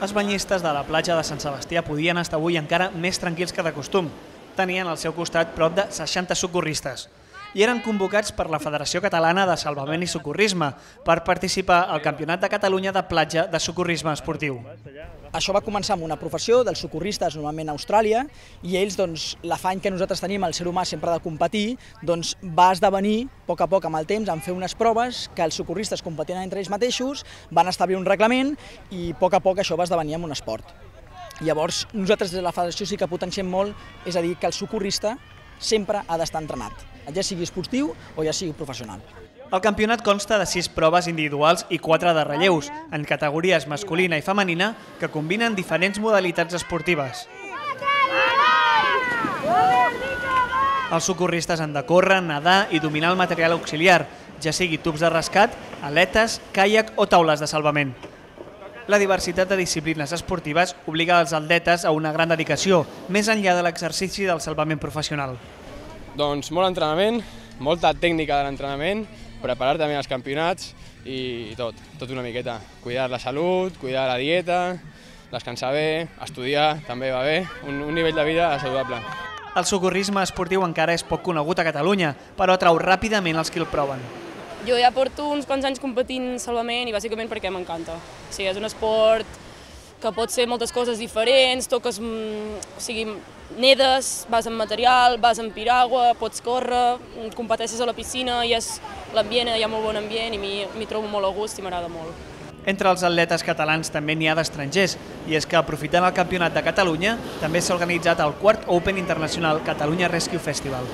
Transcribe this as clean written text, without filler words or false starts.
Els banyistes de la platja de Sant Sebastià podien estar avui encara més tranquils que de costum. Tenien al seu costat prop de 60 socorristes i eren convocats per la Federació Catalana de Salvament i Socorrisme per participar al Campionat de Catalunya de platja de socorrisme esportiu. Això va començar amb una professió dels socorristes, normalment a Austràlia, i ells, l'afany que nosaltres tenim, el ser humà sempre de competir, va esdevenir, a poc amb el temps, en fer unes proves que els socorristes competien entre ells mateixos, van establir un reglament i a poc això va esdevenir en un esport. Llavors, nosaltres des de la federació sí que potenciem molt, és a dir, que el socorrista sempre ha d'estar entrenat, ja sigui esportiu o ja sigui professional. El campionat consta de 6 proves individuals i 4 de relleus, en categories masculina i femenina, que combinen diferents modalitats esportives. Els socorristes han de córrer, nedar i dominar el material auxiliar, ja sigui tubs de rescat, aletes, caiac o taules de salvament. La diversitat de disciplines esportives obliga els atletes a una gran dedicació, més enllà de l'exercici del salvament professional. Doncs molt entrenament, molta tècnica de l'entrenament, preparar-te bé als campionats i tot una miqueta. Cuidar la salut, cuidar la dieta, descansar bé, estudiar també va bé, un nivell de vida saludable. El socorrisme esportiu encara és poc conegut a Catalunya, però atrau ràpidament els qui el proven. Jo ja porto uns quants anys competint salvament i bàsicament perquè m'encanta. O sigui, és un esport que pot ser moltes coses diferents, toques, nedes, vas amb material, vas amb piragua, pots córrer, competeixes a la piscina i l'ambient, hi ha molt bon ambient i m'hi trobo molt a gust i m'agrada molt. Entre els atletes catalans també n'hi ha d'estrangers, i és que aprofitant el Campionat de Catalunya també s'ha organitzat el 4th Open International Catalunya Rescue Festival.